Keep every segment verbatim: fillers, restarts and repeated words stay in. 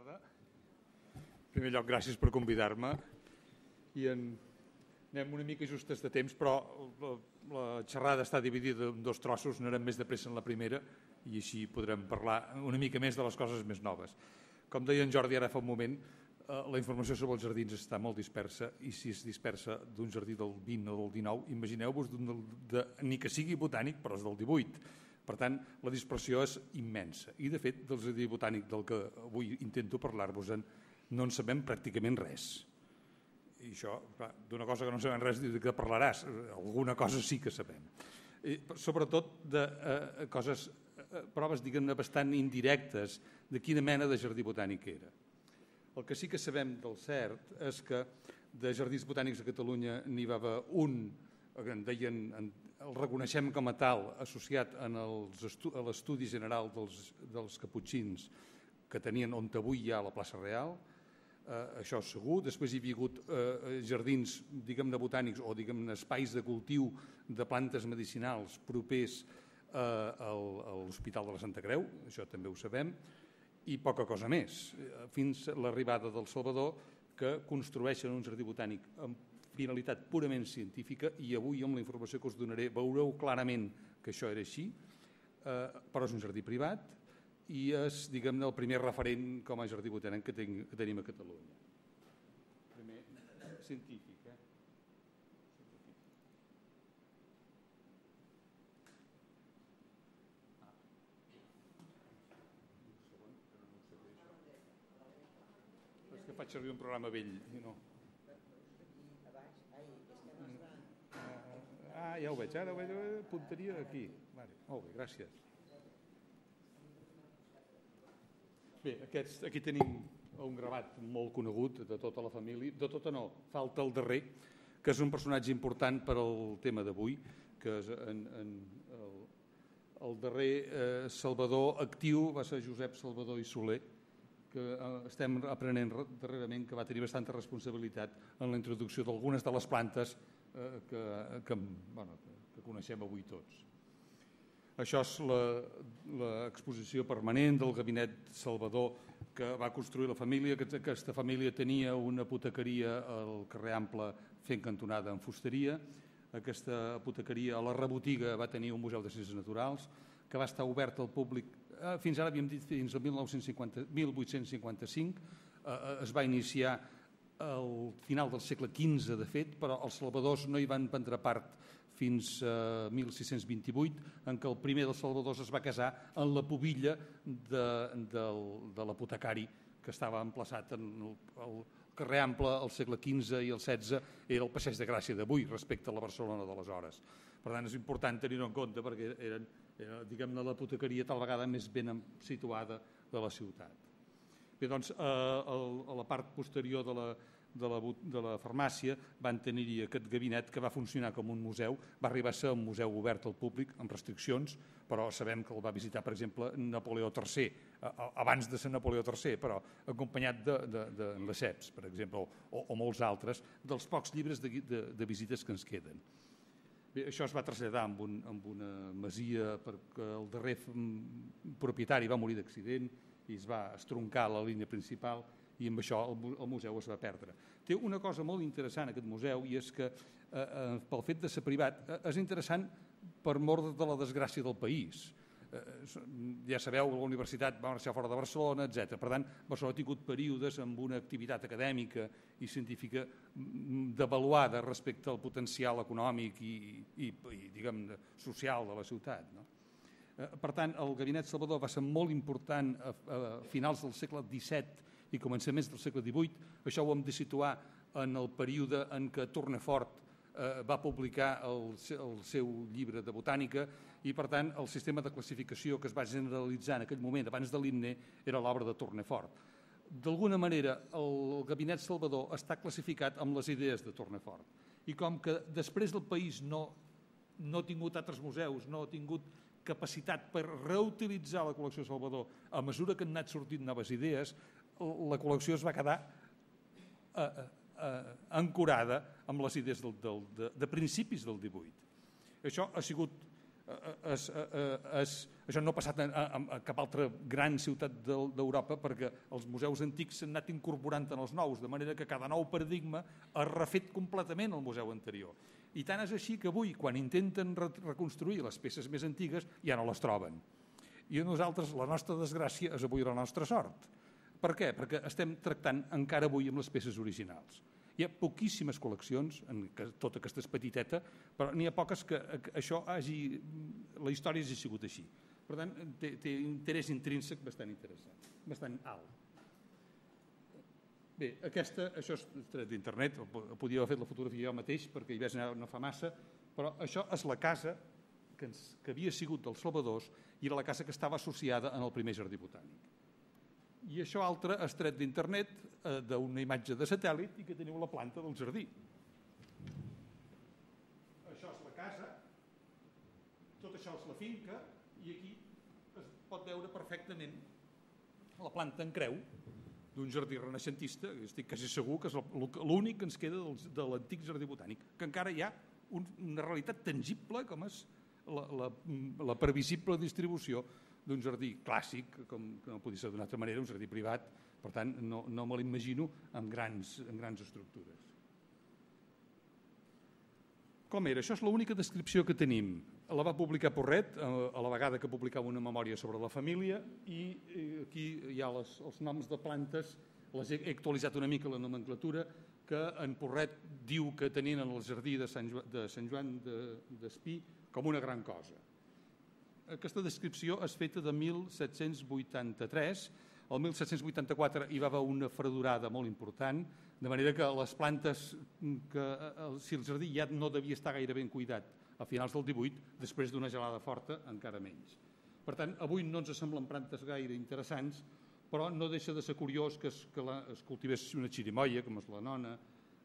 tarda. En primer lloc, gràcies per convidar-me. I en... anem una mica justes de temps, però la, la xerrada està dividida en dos trossos, no anem més de pressa en la primera i així podrem parlar una mica més de les coses més noves. Com deia en Jordi ara fa un moment, eh, la informació sobre els jardins està molt dispersa i si es dispersa d'un jardí del vint o del dinou, imagineu-vos d'un de, ni que sigui botànic, però és del divuit. Per tant, la dispersió és immensa. I, de fet, del jardí botànic del que avui intento parlar-vos-en no en sabem pràcticament res. I això, d'una cosa que no sabem res, de què parlaràs? Alguna cosa sí que sabem. I, sobretot de eh, coses, eh, proves, diguem-ne, bastant indirectes de quina mena de jardí botànic era. El que sí que sabem del cert és que de jardins botànics a Catalunya n'hi va haver un, que en deien, el reconeixem com a tal, associat en els estu, a l'estudi general dels, dels caputxins que tenien on avui hi ha la plaça Real. Uh, això és segur. Després hi havia hagut uh, jardins, diguem-ne, botànics o, diguem-ne, espais de cultiu de plantes medicinals propers uh, al, a l'Hospital de la Santa Creu, això també ho sabem, i poca cosa més, fins a l'arribada del Salvador, que construeixen un jardí botànic amb finalitat purament científica, i avui, amb la informació que us donaré, veureu clarament que això era així, uh, però és un jardí privat, i és, diguem-ne, el primer referent com a jardí botànic que, ten, que tenim a Catalunya. Primer, científic, eh? Ah. Un segon, que no ho sé. És que faig servir un programa vell, i no. Ah, ja ho veig, ara ho veig, punteria aquí. Vale, molt bé, gràcies. Bé, aquests, aquí tenim un gravat molt conegut de tota la família, de tota no, falta el darrer, que és un personatge important per al tema d'avui, que és en, en el, el darrer eh, Salvador actiu va ser Josep Salvador i Soler, que eh, estem aprenent darrerament que va tenir bastanta responsabilitat en la introducció d'algunes de les plantes eh, que, que, bueno, que coneixem avui tots. Això és l'exposició permanent del gabinet Salvador que va construir la família. Aquesta família tenia una apotecaria al carrer Ample fent cantonada en fusteria. Aquesta apotecaria a la rebotiga va tenir un museu de ciències naturals que va estar obert al públic fins ara, havíem dit, fins al mil vuit-cents cinquanta-cinc. Es va iniciar al final del segle quinze, de fet, però els salvadors no hi van prendre part fins a mil sis-cents vint-i-vuit, en què el primer dels salvadors es va casar en la pubilla de, de, de l'apotecari que estava emplaçat en el, el carrer Ample al segle quinze i el setze, era el Passeig de Gràcia d'avui respecte a la Barcelona d'aleshores. Per tant, és important tenir-ho en compte perquè eren, era, diguem-ne, l'apotecaria tal vegada més ben situada de la ciutat. Bé, doncs, a, a la part posterior de la De la, de la farmàcia van tenir-hi aquest gabinet que va funcionar com un museu, va arribar a ser un museu obert al públic amb restriccions, però sabem que el va visitar, per exemple, Napoleó tercer, abans de ser Napoleó tercer, però acompanyat de, de, de Lesseps, per exemple, o, o molts altres, dels pocs llibres de, de, de visites que ens queden. Bé, això es va traslladar amb, un, amb una masia perquè el darrer propietari va morir d'accident i es va estroncar la línia principal, i amb això el, el museu es va perdre. Té una cosa molt interessant aquest museu, i és que eh, pel fet de ser privat eh, és interessant per mort de la desgràcia del país. Eh, ja sabeu, la universitat va marxar fora de Barcelona, etcètera. Per tant, Barcelona ha tingut períodes amb una activitat acadèmica i científica devaluada respecte al potencial econòmic i, i, i diguem, social de la ciutat, no? Eh, per tant, el gabinet Salvador va ser molt important a, a finals del segle disset i començaments del segle divuit. Això ho hem de situar en el període en què Tournefort eh, va publicar el, el seu llibre de botànica i, per tant, el sistema de classificació que es va generalitzar en aquell moment, abans de l'himne, era l'obra de Tournefort. D'alguna manera, el gabinet Salvador està classificat amb les idees de Tournefort. I com que després del país no, no ha tingut altres museus, no ha tingut capacitat per reutilitzar la col·lecció Salvador a mesura que han anat sortint noves idees, la col·lecció es va quedar eh, eh, ancorada amb les idees del, del, de, de principis del divuit. Això ha sigut Es, es, això no ha passat a, a, a cap altra gran ciutat d'Europa perquè els museus antics s'han anat incorporant en els nous, de manera que cada nou paradigma ha refet completament el museu anterior. I tant és així que avui, quan intenten re reconstruir les peces més antigues, ja no les troben. I a nosaltres, la nostra desgràcia és avui la nostra sort. Per què? Perquè estem tractant encara avui amb les peces originals. Hi ha poquíssimes col·leccions, en tota aquesta és petiteta, però n'hi ha poques que això hagi, la història hagi sigut així. Per tant, té, té interès intrínsec bastant interessant, bastant alt. Bé, aquesta, això és tret d'internet, podria haver fet la fotografia jo mateix perquè hi veig anar no fa massa, però això és la casa que, ens, que havia sigut dels Salvadors i era la casa que estava associada en el primer jardí botànic. I això altre és tret d'internet, eh, d'una imatge de satèl·lit i que teniu la planta del jardí. Això és la casa, tot això és la finca i aquí es pot veure perfectament la planta en creu d'un jardí renaixentista, estic quasi segur que és l'únic que ens queda de l'antic jardí botànic, que encara hi ha un, una realitat tangible com és la, la, la previsible distribució d'un jardí clàssic, com no podia ser d'una altra manera, un jardí privat, per tant no, no me l'imagino amb grans, amb grans estructures. Com era? Això és l'única descripció que tenim. La va publicar Porret a la vegada que publicava una memòria sobre la família i aquí hi ha les, els noms de plantes, les he actualitzat una mica la nomenclatura, que en Porret diu que tenien en el jardí de Sant Joan, de Sant Joan d'Espí com una gran cosa. Aquesta descripció és feta de mil set-cents vuitanta-tres. El mil set-cents vuitanta-quatre hi va haver una fredurada molt important, de manera que les plantes, que si el jardí ja no devia estar gaire ben cuidat a finals del divuit, després d'una gelada forta encara menys. Per tant, avui no ens semblen plantes gaire interessants, però no deixa de ser curiós que es, que la, es cultivés una xirimoia, com és la nona,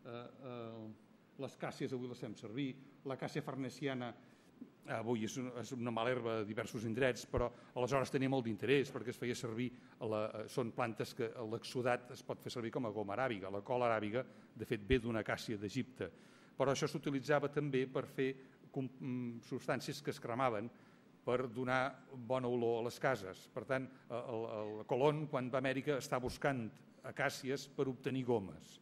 eh, eh, les càcies avui les fem servir, la càssia farnesiana avui és una, és una mala herba a diversos indrets, però aleshores tenia molt d'interès perquè es feia servir, la, són plantes que l'exsudat es pot fer servir com a goma aràbiga. La cola aràbiga, de fet, ve d'una acàcia d'Egipte, però això s'utilitzava també per fer substàncies que es cremaven per donar bona olor a les cases. Per tant, el, el Colón, quan va a Amèrica, està buscant acàcies per obtenir gomes.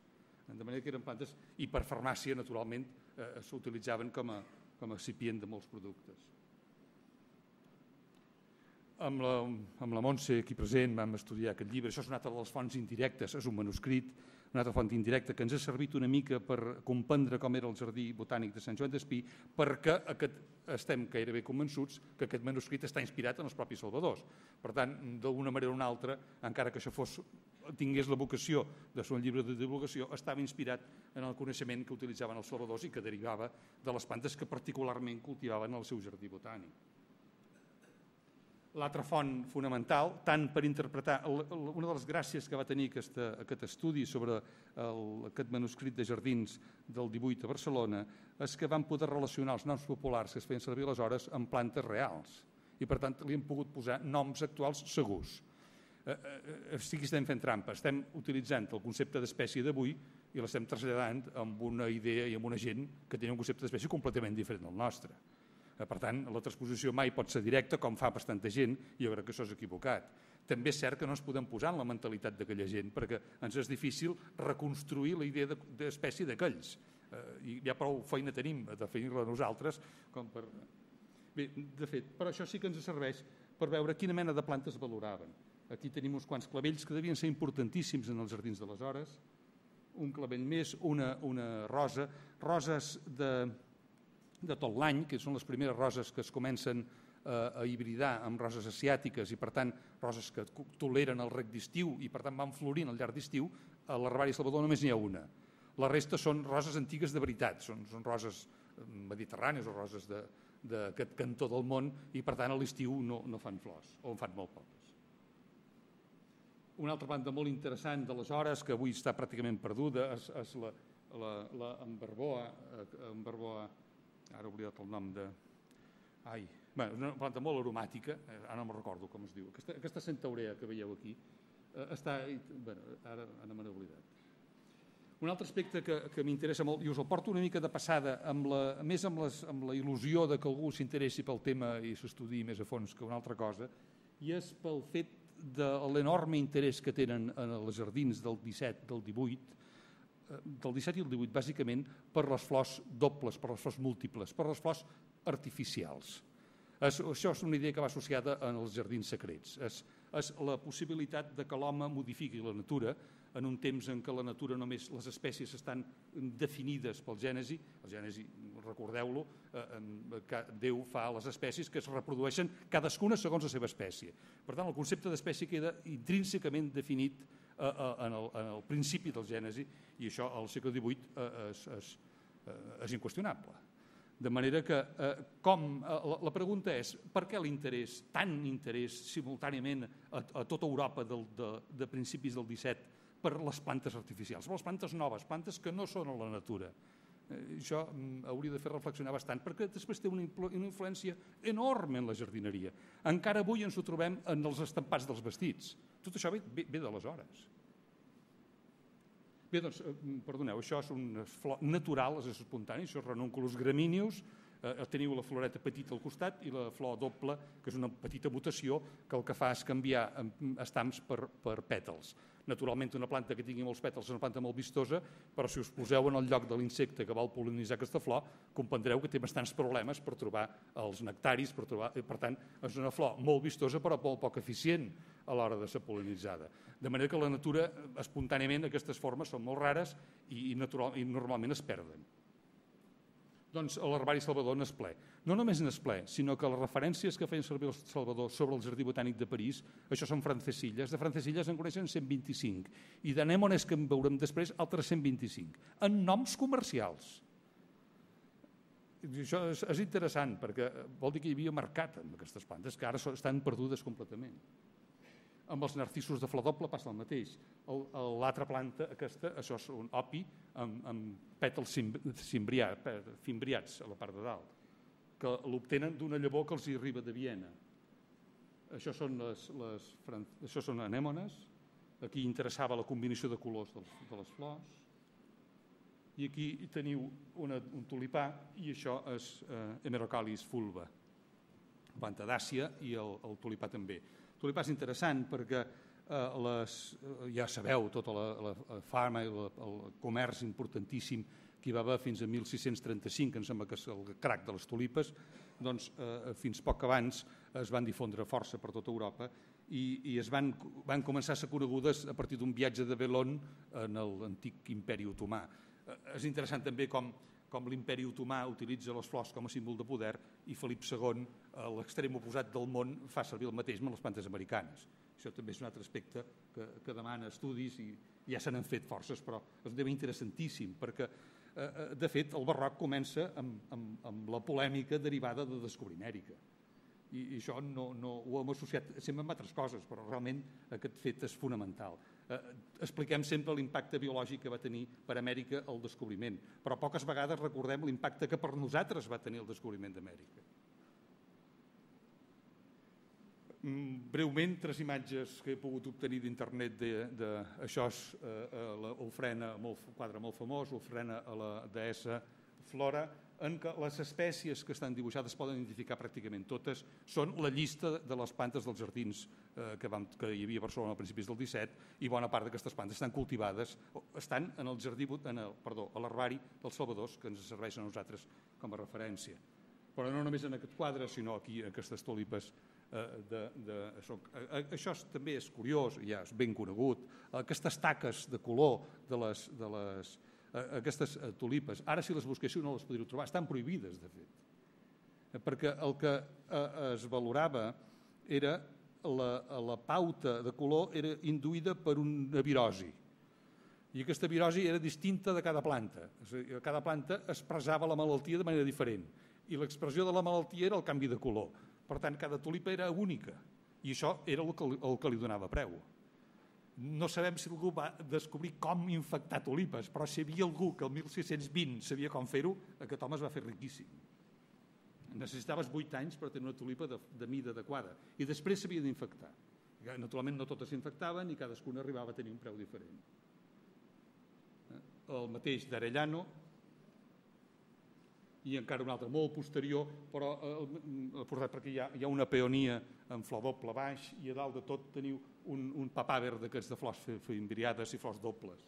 De manera que eren plantes, i per farmàcia, naturalment, eh, s'utilitzaven com a com a excipient de molts productes. Amb la, amb la Montse aquí present vam estudiar aquest llibre. Això és una altra de les fonts indirectes, és un manuscrit, una altra font indirecta que ens ha servit una mica per comprendre com era el jardí botànic de Sant Joan d'Espí, perquè aquest, estem gairebé convençuts que aquest manuscrit està inspirat en els propis salvadors. Per tant, d'una manera o una altra, encara que això fos, tingués la vocació de ser un llibre de divulgació, estava inspirat en el coneixement que utilitzaven els salvadors i que derivava de les plantes que particularment cultivaven al seu jardí botànic. L'altra font fonamental, tant per interpretar, una de les gràcies que va tenir aquesta, aquest estudi sobre el, aquest manuscrit de jardins del divuit a Barcelona, és que van poder relacionar els noms populars que es feien servir aleshores amb plantes reals i per tant li han pogut posar noms actuals segurs. Sí que estem fent trampa, estem utilitzant el concepte d'espècie d'avui i l'estem traslladant amb una idea i amb una gent que té un concepte d'espècie completament diferent del nostre. Per tant, la transposició mai pot ser directa, com fa bastanta gent, i jo crec que això és equivocat. També és cert que no ens podem posar en la mentalitat d'aquella gent, perquè ens és difícil reconstruir la idea d'espècie d'aquells. I ja prou feina tenim a definir-la nosaltres. Com per... Bé, de fet, però això sí que ens serveix per veure quina mena de plantes valoraven. Aquí tenim uns quants clavells que devien ser importantíssims en els jardins d'aleshores. Un clavell més, una, una rosa, roses de, de tot l'any, que són les primeres roses que es comencen a hibridar amb roses asiàtiques i per tant roses que toleren el reg d'estiu i per tant van florint al llarg d'estiu. A l'herbari Salvador només n'hi ha una. La resta són roses antigues de veritat, són, són roses mediterrànies o roses d'aquest cantó del món i per tant a l'estiu no, no fan flors o en fan molt poques. Una altra planta molt interessant d'aleshores que avui està pràcticament perduda és, és la, la, la emberboa, emberboa, ara he oblidat el nom de... Ai, bé, una planta molt aromàtica, ara no me'n recordo com es diu, aquesta, aquesta centaurea que veieu aquí, eh, està... Bé, ara, ara me n'he oblidat. Un altre aspecte que, que m'interessa molt, i us el porto una mica de passada, amb la, més amb, les, amb la il·lusió de que algú s'interessi pel tema i s'estudiï més a fons que una altra cosa, i és pel fet de l'enorme interès que tenen en els jardins del disset, del divuit, del disset i el divuit, bàsicament per les flors dobles, per les flors múltiples, per les flors artificials. És, això és una idea que va associada als jardins secrets. És, és la possibilitat de que l'home modifiqui la natura en un temps en què la natura només, les espècies estan definides pel gènesi, el gènesi, recordeu-lo, eh, que Déu fa a les espècies que es reprodueixen cadascuna segons la seva espècie. Per tant, el concepte d'espècie queda intrínsecament definit eh, en, el, en el principi del gènesi, i això al segle divuit eh, és, és, és inqüestionable. De manera que, eh, com, eh, la, la pregunta és, per què l'interès, tant interès simultàniament a, a tota Europa del, de, de principis del disset per les plantes artificials, per les plantes noves, plantes que no són a la natura? Eh, això mm, hauria de fer reflexionar bastant, perquè després té una, una influència enorme en la jardineria. Encara avui ens ho trobem en els estampats dels vestits. Tot això ve, ve, ve d'aleshores. Bé, doncs, perdoneu, això és una flor natural, és espontani, això és Ranunculus graminius, eh, teniu la floreta petita al costat i la flor doble, que és una petita mutació que el que fa és canviar estams per, per pètals. Naturalment, una planta que tingui molts pètals és una planta molt vistosa, però si us poseu en el lloc de l'insecte que vol pol·linitzar aquesta flor, comprendreu que té bastants problemes per trobar els nectaris, per, trobar, per tant, és una flor molt vistosa però molt poc eficient a l'hora de ser pol·linitzada. De manera que la natura, espontàniament, aquestes formes són molt rares i, i, natural, i normalment es perden. Doncs l'herbari Salvador n'és ple. No només n'és ple, sinó que les referències que feien servir el Salvador sobre el Jardí Botànic de París, això són francesilles, de francesilles en coneixen cent vint-i-cinc, i d'anémones que en veurem després, altres cent vint-i-cinc, en noms comercials. I això és, és interessant, perquè vol dir que hi havia mercat amb aquestes plantes, que ara estan perdudes completament. Amb els narcisos de flor doble passa el mateix. L'altra planta, aquesta, això és un opi amb, amb pètals cimbrià, fimbriats a la part de dalt, que l'obtenen d'una llavor que els hi arriba de Viena. Això són, les, les, això són anèmones. Aquí interessava la combinació de colors de les, de les flors. I aquí teniu una, un tulipà, i això és eh, Hemerocalis fulva, planta d'Àsia, i el, el tulipà també. El tulipà és interessant perquè eh, les, ja sabeu tota la, la, la farma i la, el comerç importantíssim que hi va haver fins a mil sis-cents trenta-cinc, que em sembla que és el crac de les tulipes, doncs eh, fins poc abans es van difondre força per tota Europa i, i es van, van començar a ser conegudes a partir d'un viatge de Belon en l'antic imperi otomà. Eh, és interessant també com com l'imperi otomà utilitza les flors com a símbol de poder i Felip segon, a l'extrem oposat del món, fa servir el mateix amb les plantes americanes. Això també és un altre aspecte que, que demana estudis i ja se n'han fet forces, però és un tema interessantíssim, perquè, eh, de fet, el barroc comença amb, amb, amb la polèmica derivada de descobrimèrica. I, i això no, no, ho hem associat sempre amb altres coses, però realment aquest fet és fonamental. Eh, expliquem sempre l'impacte biològic que va tenir per Amèrica el descobriment, però poques vegades recordem l'impacte que per nosaltres va tenir el descobriment d'Amèrica. Mm, breument, tres imatges que he pogut obtenir d'internet de, de, això és eh, l'ofrena, un quadre molt famós, l'ofrena a la deessa Flora, en què les espècies que estan dibuixades poden identificar pràcticament totes, són la llista de les plantes dels jardins eh, que, vam, que hi havia a Barcelona a principis del disset, i bona part d'aquestes plantes estan cultivades, estan en el jardí, en el, perdó, a l'herbari dels Salvadors, que ens serveixen a nosaltres com a referència. Però no només en aquest quadre, sinó aquí aquestes tulipes. Eh, de, de, això, eh, això és, també és curiós, ja és ben conegut, aquestes taques de color de les, de les aquestes tulipes, ara si les busquéssiu no les podríeu trobar, estan prohibides de fet, perquè el que es valorava era la, la pauta de color era induïda per una virosi, i aquesta virosi era distinta de cada planta. Cada planta expressava la malaltia de manera diferent i l'expressió de la malaltia era el canvi de color. Per tant, cada tulipa era única i això era el que, el que li donava preu. No sabem si algú va descobrir com infectar tulipes, però si hi havia algú que el mil sis-cents vint sabia com fer-ho, aquest home es va fer riquíssim. Necessitaves vuit anys per tenir una tulipa de, de mida adequada i després s'havia d'infectar. Naturalment no totes s'infectaven i cadascuna arribava a tenir un preu diferent. el mateix d'Arellano, i encara un altre molt posterior, però eh, portat perquè hi ha, hi ha una peonia en flor doble baix i a dalt de tot teniu un, un papàver d'aquests de flors fimbriades i flors dobles.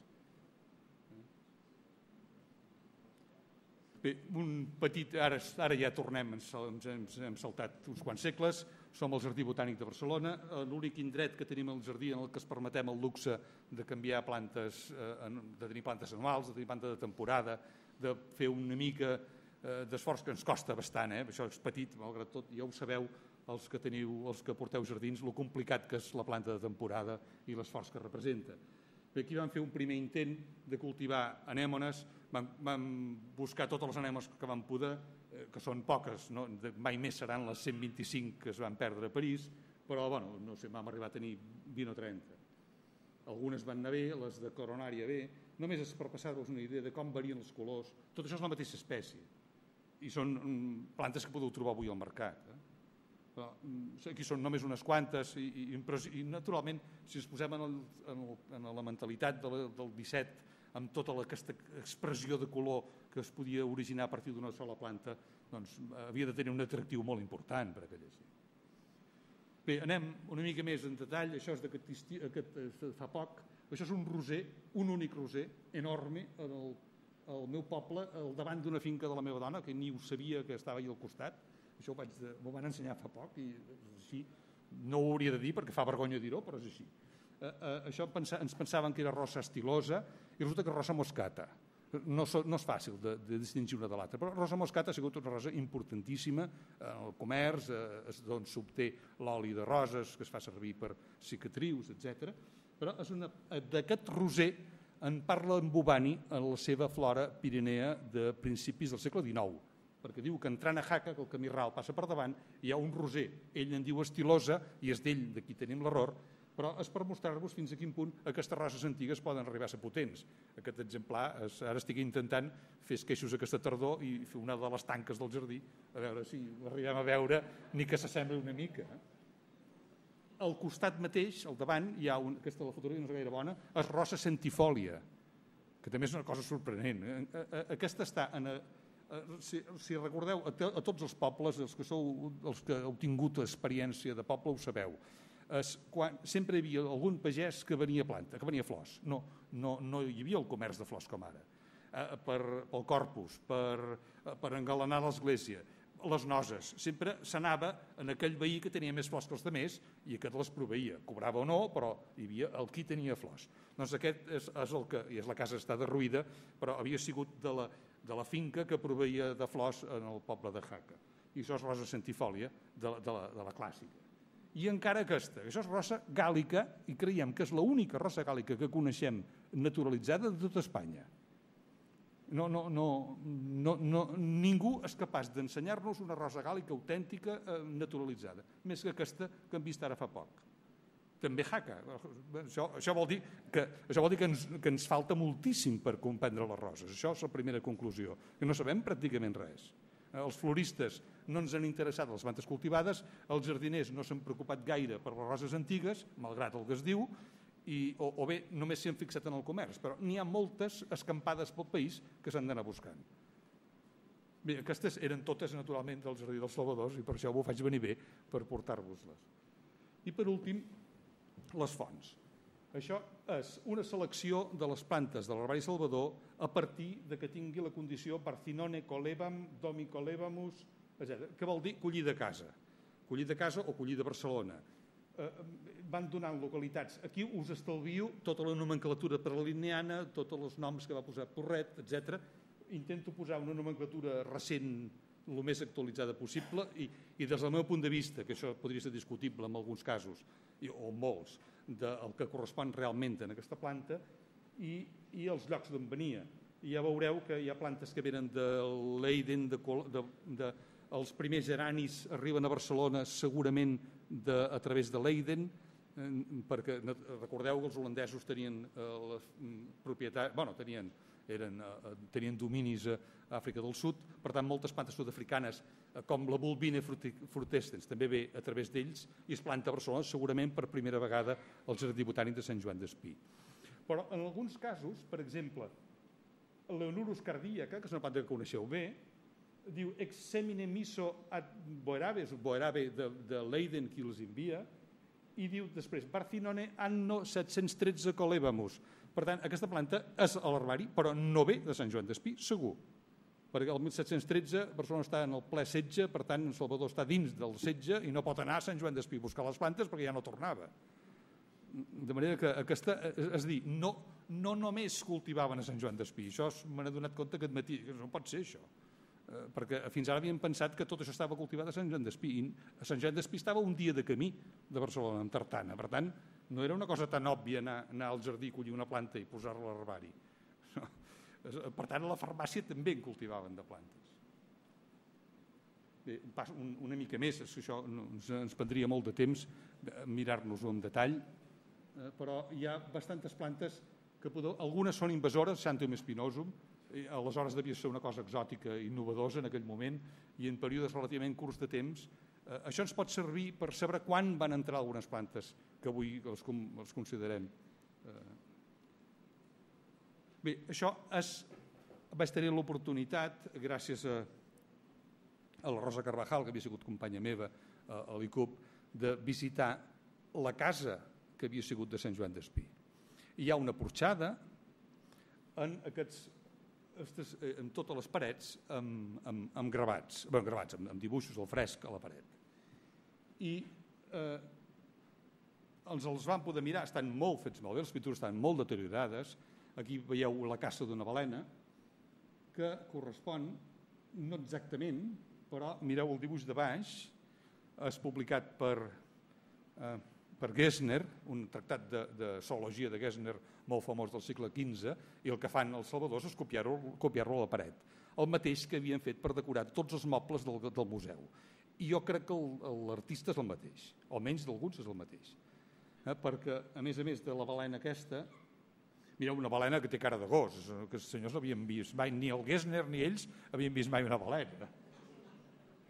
Bé, un petit, ara, ara ja tornem, ens, ens hem saltat uns quants segles, som al Jardí Botànic de Barcelona, l'únic indret que tenim al jardí en el que es permetem el luxe de canviar plantes, de tenir plantes anuals, de tenir plantes de temporada, de fer una mica d'esforç que ens costa bastant, eh? Això és petit, malgrat tot, ja ho sabeu, els que teniu, els que porteu jardins, lo complicat que és la planta de temporada i l'esforç que representa. Bé, aquí vam fer un primer intent de cultivar anèmones, vam, vam buscar totes les anèmones que vam poder, eh, que són poques, no? Mai més seran les cent vint-i-cinc que es van perdre a París, però bueno, no sé, vam arribar a tenir vint o trenta. Algunes van anar bé, les de coronària bé, només és per passar-vos una idea de com varien els colors, tot això és la mateixa espècie. I són plantes que podeu trobar avui al mercat. Eh? Però, aquí són només unes quantes i, i, i naturalment, si ens posem en, el, en, el, en la mentalitat del, del disset, amb tota la, aquesta expressió de color que es podia originar a partir d'una sola planta, doncs havia de tenir un atractiu molt important per a aquella gent. Bé, anem una mica més en detall. Això és d'aquest aquest, fa poc. Això és un roser, un únic roser, enorme, en el al meu poble, al davant d'una finca de la meva dona, que ni ho sabia que estava allà al costat. Això m'ho van ensenyar fa poc i així. No ho hauria de dir perquè fa vergonya dir-ho, però és així. Eh, eh, això pensa, ens pensàvem que era rosa estilosa i resulta que és rosa moscata. No, no és fàcil de, de distingir una de l'altra, però rosa moscata ha sigut una rosa importantíssima en el comerç, eh, d'on s'obté l'oli de roses que es fa servir per cicatrius, etcètera. Però és una, d'aquest roser en parla en Bubani en la seva flora pirinea de principis del segle dinou, perquè diu que entrant a Jaca, que el camí ral passa per davant, hi ha un roser, ell en diu estilosa, i és d'ell, d'aquí tenim l'error, però és per mostrar-vos fins a quin punt aquestes roses antigues poden arribar a ser potents. Aquest exemplar, és, ara estic intentant fer esqueixos aquesta tardor i fer una de les tanques del jardí, a veure si l'arribem a veure, ni que s'assembli una mica. Al costat mateix, al davant, hi ha un, aquesta la fotografia no és gaire bona, és rosa centifòlia, que també és una cosa sorprenent. Aquesta està, en, si, si recordeu, a, a tots els pobles, els que, sou, els que heu tingut experiència de poble, ho sabeu, és quan sempre hi havia algun pagès que venia planta, que venia flors. No, no, no hi havia el comerç de flors com ara. Per, pel corpus, per, per engalanar l'església, les noses. Sempre s'anava en aquell veí que tenia més flors que els altres i aquest les proveïa. Cobrava o no, però hi havia el qui tenia flors. Doncs aquest és, és el que, i és la casa està derruïda, però havia sigut de la, de la finca que proveïa de flors en el poble de Jaca. I això és rosa centifòlia de, de, la, de la clàssica. I encara aquesta, això és rosa gàl·lica i creiem que és l'única rosa gàl·lica que coneixem naturalitzada de tota Espanya. No, no, no, no, no, ningú és capaç d'ensenyar-nos una rosa gàl·lica autèntica eh, naturalitzada, més que aquesta que hem vist ara fa poc. També Jaca. Això, això vol dir, que, això vol dir que, ens, que ens falta moltíssim per comprendre les roses. Això és la primera conclusió, que no sabem pràcticament res. Els floristes no ens han interessat les plantes cultivades, els jardiners no s'han preocupat gaire per les roses antigues, malgrat el que es diu, I, o, o bé només s'hi han fixat en el comerç, però n'hi ha moltes escampades pel país que s'han d'anar buscant. Bé, aquestes eren totes naturalment del Jardí dels Salvadors i per això ho faig venir bé per portar-vos-les. I per últim, les fonts. Això és una selecció de les plantes de l'herbari Salvador a partir de que tingui la condició Parcinone colebam, Domi colebamus, etcètera, que vol dir collir de casa, collir de casa o collir de Barcelona. Van donant localitats. Aquí us estalvio tota la nomenclatura prelineana, tots els noms que va posar Porret, etcètera. Intento posar una nomenclatura recent el més actualitzada possible i, i des del meu punt de vista, que això podria ser discutible en alguns casos, i, o molts, del que correspon realment en aquesta planta i, i els llocs d'on venia. I ja veureu que hi ha plantes que venen de Leiden, de, de, de, els primers geranis arriben a Barcelona segurament de, a través de Leiden, eh, perquè recordeu que els holandesos tenien eh, les propietats, bueno, tenien, eren, eh, tenien dominis a Àfrica del Sud, per tant moltes plantes sud-africanes eh, com la Bulbina frutescens també ve a través d'ells i es planta a Barcelona segurament per primera vegada al Jardí Botànic de Sant Joan d'Espí. Però en alguns casos, per exemple, l'Eonurus cardíaca, que és una planta que coneixeu bé, diu ex semine miso ad Boeraves, Boerave de, de Leiden qui els envia, i diu després Barcinone anno set-cents tretze colebamus. Per tant, aquesta planta és a l'herbari, però no ve de Sant Joan d'Espí, segur. Perquè el mil set-cents tretze Barcelona està en el ple setge, per tant, Salvador està dins del setge i no pot anar a Sant Joan d'Espí a buscar les plantes perquè ja no tornava. De manera que aquesta, és a dir, no, no només cultivaven a Sant Joan d'Espí, això me n'he donat compte aquest matí, que no pot ser això, eh, perquè fins ara havíem pensat que tot això estava cultivat a Sant Joan d'Espí, i a Sant Joan d'Espí estava un dia de camí de Barcelona, amb tartana, per tant, no era una cosa tan òbvia anar, anar al jardí, collir una planta i posar-la a l'herbari. No. Per tant, a la farmàcia també en cultivaven de plantes. Bé, una mica més, això ens, ens prendria molt de temps mirar-nos-ho en detall, però hi ha bastantes plantes que podeu, algunes són invasores, Xanthum spinosum, aleshores devia ser una cosa exòtica i innovadora en aquell moment, i en períodes relativament curts de temps. Això ens pot servir per saber quan van entrar algunes plantes que avui els, els considerem. Bé, això és, vaig tenir l'oportunitat, gràcies a, a la Rosa Carvajal, que havia sigut companya meva a, a l'I C U P, de visitar la casa que havia sigut de Sant Joan d'Espí. Hi ha una porxada en, aquests, estes, en totes les parets amb, amb, amb gravats, bé, gravats amb, amb dibuixos al fresc a la paret. I eh, els, els van poder mirar, estan molt fets malbé, les pintures estan molt deteriorades. Aquí veieu la caça d'una balena, que correspon, no exactament, però mireu el dibuix de baix, és publicat per, eh, per Gessner, un tractat de, de zoologia de Gessner molt famós del segle quinze, i el que fan els salvadors és copiar-ho copiar-lo a la paret. El mateix que havien fet per decorar tots els mobles del, del museu. I jo crec que l'artista és el mateix, almenys d'alguns és el mateix. Eh, perquè, a més a més de la balena aquesta, mireu, una balena que té cara de gos, que els senyors no havien vist mai, ni el Gessner ni ells havien vist mai una balena.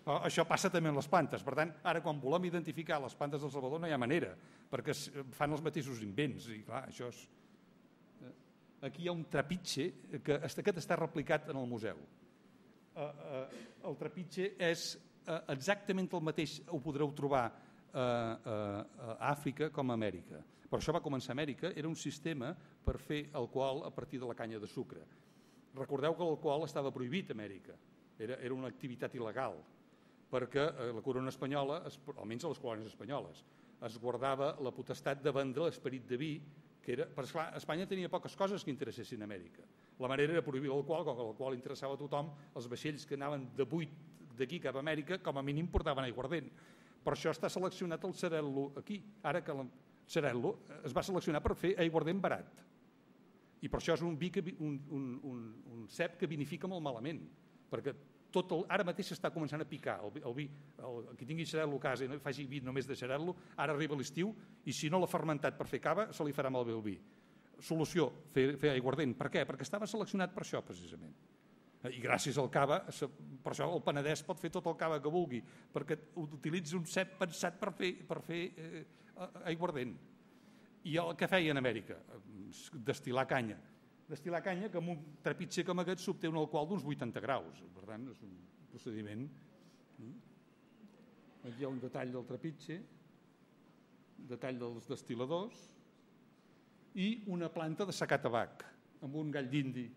Però això passa també amb les plantes. Per tant, ara quan volem identificar les plantes del Salvador no hi ha manera, perquè fan els mateixos invents. I clar, això és... Aquí hi ha un trapitge que aquest està replicat en el museu. El trapitge és exactament el mateix, ho podreu trobar a Àfrica com a Amèrica. Però això va començar a Amèrica, era un sistema per fer alcohol a partir de la canya de sucre. Recordeu que l'alcohol estava prohibit a Amèrica, era, era una activitat il·legal, perquè la corona espanyola, almenys a les colònies espanyoles, es guardava la potestat de vendre l'esperit de vi, que era, perquè esclar, Espanya tenia poques coses que interessessin a Amèrica. La manera era prohibir l'alcohol, com que l'alcohol interessava a tothom, els vaixells que anaven de buit d'aquí cap a Amèrica, com a mínim portaven aiguardent. Per això està seleccionat el Xarel·lo aquí, ara que la... Xarel·lo es va seleccionar per fer aiguardent barat. I per això és un, vi que, un, un, un, un cep que vinifica molt malament, perquè tot el, ara mateix s'està començant a picar. El, el vi, el, qui tingui Xarel·lo a casa i no faci vi només de Xarel·lo, ara arriba l'estiu i si no l'ha fermentat per fer cava, se li farà malbé el vi. Solució, fer, fer aiguardent. Per què? Perquè estava seleccionat per això, precisament. I gràcies al cava, per això el Penedès pot fer tot el cava que vulgui, perquè utilitza un cep pensat per fer, per fer eh, aiguardent. I el que feia en Amèrica? Destil·lar canya. Destil·lar canya que amb un trepitger com aquest s'obté un alcohol d'uns vuitanta graus. Per tant, és un procediment. Aquí hi ha un detall del trepitger, detall dels destil·ladors i una planta de secar tabac amb un gall d'indi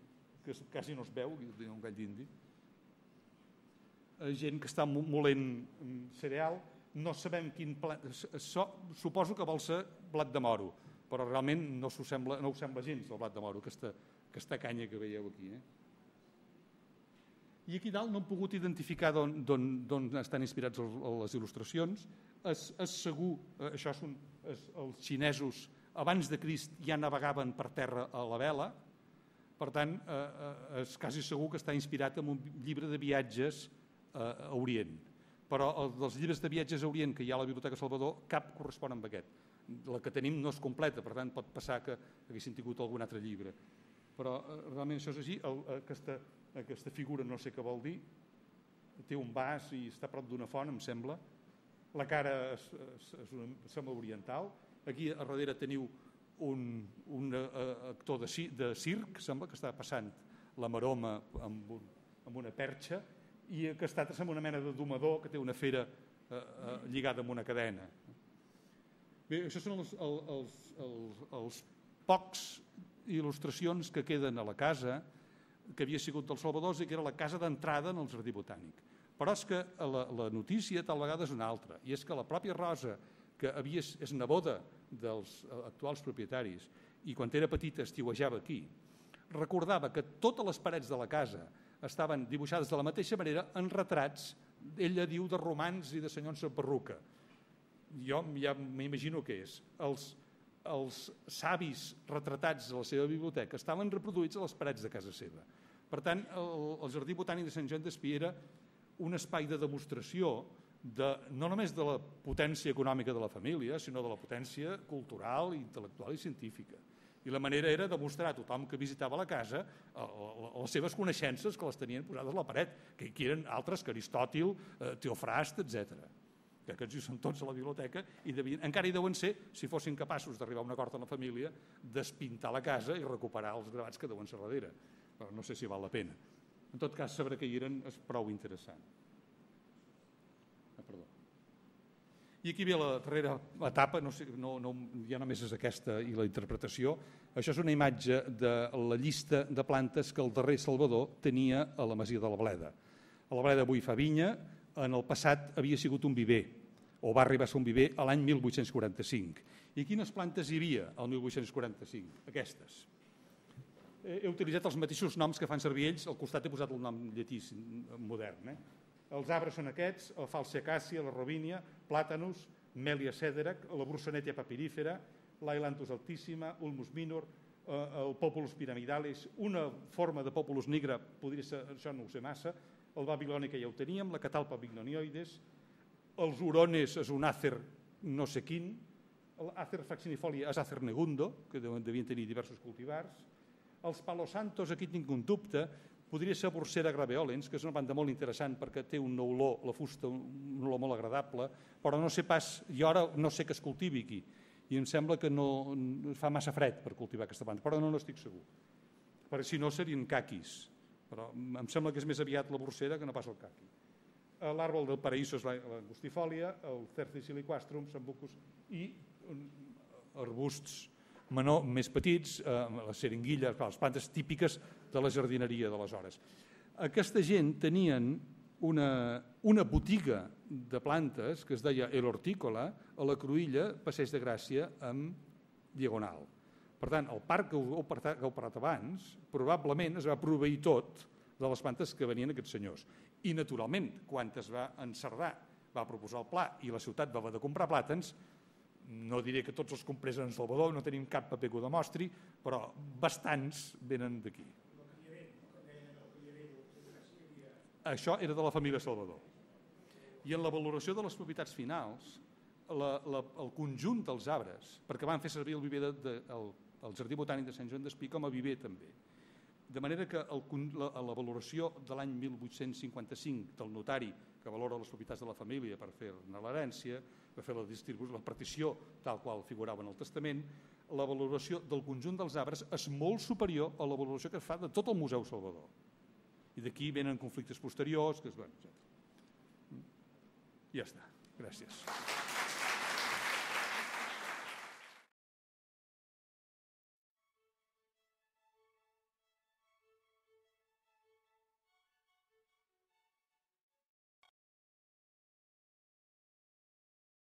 que quasi no es veu, un gall d'indi. Gent que està molent cereal, no sabem quin plat... Suposo que vol ser blat de moro, però realment no ho sembla, no ho sembla gens, el blat de moro, aquesta, aquesta canya que veieu aquí. Eh? I aquí dalt no hem pogut identificar d'on estan inspirats les il·lustracions. És, és segur, això són els xinesos, abans de Crist ja navegaven per terra a la vela, per tant, eh, és quasi segur que està inspirat en un llibre de viatges eh, a Orient. Però els dels llibres de viatges a Orient que hi ha a la Biblioteca Salvador, cap correspon amb aquest. La que tenim no és completa, per tant, pot passar que haguessin tingut algun altre llibre. Però eh, realment això és així. El, aquesta, aquesta figura no sé què vol dir. Té un vas i està a prop d'una font, em sembla. La cara és, és, és una, sembla oriental. Aquí a darrere teniu un, un uh, actor de, de circ, sembla que està passant la maroma amb, un, amb una perxa, i que està amb una mena de domador que té una fera eh, eh, lligada amb una cadena. Bé, això són els, els, els, els pocs il·lustracions que queden a la casa que havia sigut dels Salvadors i que era la casa d'entrada en el Jardí Botànic. Però és que la, la notícia tal vegada és una altra, i és que la pròpia Rosa, que havia, és neboda dels actuals propietaris, i quan era petita estiuejava aquí, recordava que totes les parets de la casa estaven dibuixades de la mateixa manera en retrats, ella diu, de romans i de senyors amb perruca. Jo ja m'imagino què és. Els, els savis retratats a la seva biblioteca estaven reproduïts a les parets de casa seva. Per tant, el, el Jardí Botànic de Sant Joan d'Espí era un espai de demostració de, no només de la potència econòmica de la família, sinó de la potència cultural, intel·lectual i científica. I la manera era demostrar a tothom que visitava la casa les seves coneixences que les tenien posades a la paret, que hi eren altres que Aristòtil, Teofrast, etcètera. Que aquests hi són tots a la biblioteca i devien, encara hi deuen ser, si fossin capaços d'arribar a un acord amb la família, despintar la casa i recuperar els gravats que deuen ser darrere. Però no sé si val la pena. En tot cas, saber que hi eren és prou interessant. Ah, perdó. I aquí ve la darrera etapa, no sé, no, no, ja només és aquesta i la interpretació. Això és una imatge de la llista de plantes que el darrer Salvador tenia a la masia de la Bleda. A la Bleda avui fa vinya, en el passat havia sigut un viver, o va arribar a ser un viver a l'any mil vuit-cents quaranta-cinc. I quines plantes hi havia al mil vuit-cents quaranta-cinc? Aquestes. He utilitzat els mateixos noms que fan servir ells, al costat he posat el nom llatí modern. Eh? Els arbres són aquests, el falciacàcia, la rovínia, plàtanus, Melia cederac, la brucenetia papirífera, l'ailanthus altíssima, ulmus minor, el populus pyramidalis, una forma de populus nigra, podria ser, això no ho sé massa, el babilònica ja ho teníem, la catalpa bignonioides, els hurones és un àcer no sé quin, l'àcer faccinifolia és àcer negundo, que devien tenir diversos cultivars, els palosantos, aquí tinc un dubte, podria ser Bursera graveolens, que és una planta molt interessant perquè té una olor, la fusta, una olor molt agradable, però no sé pas, jo ara no sé que es cultivi aquí, i em sembla que no fa massa fred per cultivar aquesta planta, però no n'estic segur, perquè si no serien caquis, però em sembla que és més aviat la Bursera que no pas el caqui. L'àrbol del paraíso és l'angustifòlia, el Cercis siliquastrum, sambucus i arbusts menor, més petits, eh, les seringuilles, les plantes típiques de la jardineria d'aleshores. Aquesta gent tenien una, una botiga de plantes que es deia El Hortícola a la Cruïlla, Passeig de Gràcia, amb Diagonal. Per tant, el parc que heu parlat abans probablement es va proveir tot de les plantes que venien aquests senyors. I, naturalment, quan es va encerdar, va proposar el pla i la ciutat va haver de comprar plàtans, no diré que tots els comprés en Salvador, no tenim cap paper que ho demostri, però bastants venen d'aquí. Això era de la família Salvador. I en la valoració de les propietats finals, la, la, el conjunt dels arbres, perquè van fer servir el, viver de, de, el, el Jardí Botànic de Sant Joan d'Espí com a viver també. De manera que el, la, la valoració de l'any mil vuit-cents cinquanta-cinc del notari que valora les propietats de la família per fer-ne l'herència, per fer la distribució, la partició tal qual figurava en el testament, la valoració del conjunt dels arbres és molt superior a la valoració que es fa de tot el Museu Salvador. I d'aquí venen conflictes posteriors, que es van, etcètera. Ja està. Gràcies.